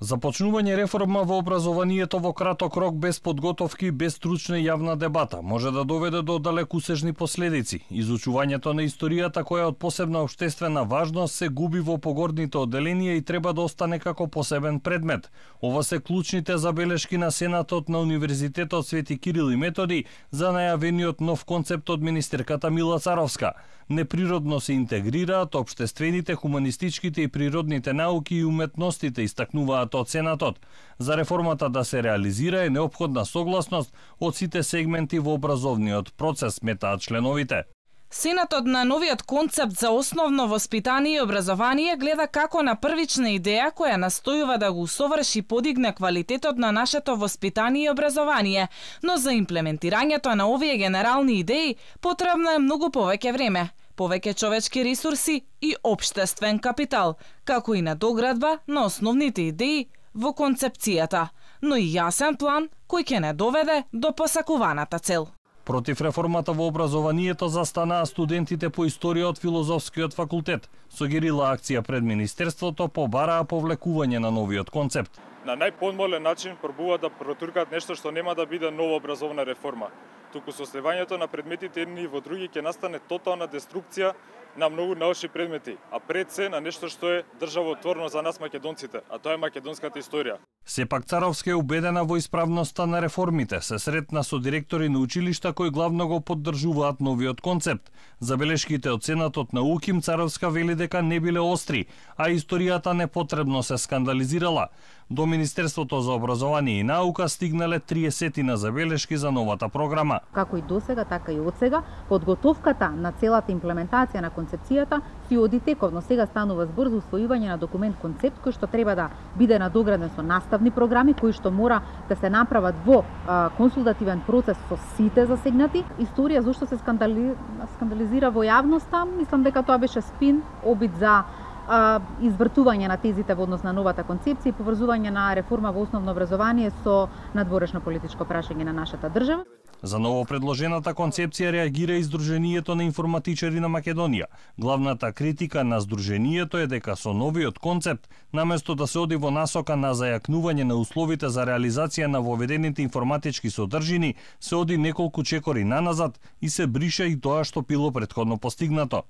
Започнување реформа во образованието во краток рок без подготовки, без стручна јавна дебата може да доведе до далекусежни последици. Изучувањето на историјата која од посебна општествена важност се губи во погорните одделенија и треба да остане како посебен предмет. Ова се клучните забелешки на Сенатот на Универзитетот Свети Кирил и Методи за најавениот нов концепт од министерката Мила Царовска. Неприродно се интегрираат општествените, хуманистичките и природните науки и уметностите, истакнуваат од Сенатот. За реформата да се реализира е неопходна согласност од сите сегменти во образовниот процес, метаат членовите. Сенатот на новиот концепт за основно воспитание и образование гледа како на првична идеја која настојува да го усоврши и подигне квалитетот на нашето воспитание и образование, но за имплементирањето на овие генерални идеи потребно е многу повеќе време, повеќе човечки ресурси и општествен капитал, како и надоградба на основните идеи во концепцијата, но и јасен план кој ќе не доведе до посакуваната цел. Против реформата во образованието застанаа студентите по историја од Филозофскиот факултет. Со герила акција пред Министерството побараа повлекување на новиот концепт. На најподмолен начин пробуваат да протуркаат нешто што нема да биде нова образовна реформа. Туку со сливањето на предметите едни во други ќе настане тотална деструкција на многу научни предмети, а пред се на нешто што е државотворно за нас македонците, а тоа е македонската историја. Сепак Царовска е убедена во исправноста на реформите, се сретна со директори на училишта кои главно го поддржуваат новиот концепт. Забелешките од Сенатот на УКИМ Царовска вели дека не биле остри, а историјата непотребно се скандализирала. До Министерството за образование и наука стигнале 30 забелешки за новата програма. Како и досега, така и одсега, подготовката на целата имплементација на концепцијата си оди тековно. Сега станува збор за усвојување на документ концепт кој што треба да биде надограден со наставни програми кои што мора да се направат во консултативен процес со сите засегнати. Историја зошто се скандализира во јавноста, мислам дека тоа беше спин, обид за извртување на тезите во однос на новата концепција и поврзување на реформа во основно образование со надворешно политичко прашање на нашата држава. За ново предложената концепција реагира и Сдруженијето на информатичари на Македонија. Главната критика на Сдруженијето е дека со новиот концепт, наместо да се оди во насока на зајакнување на условите за реализација на воведените информатички содржини, се оди неколку чекори наназад и се брише и тоа што било претходно постигнато.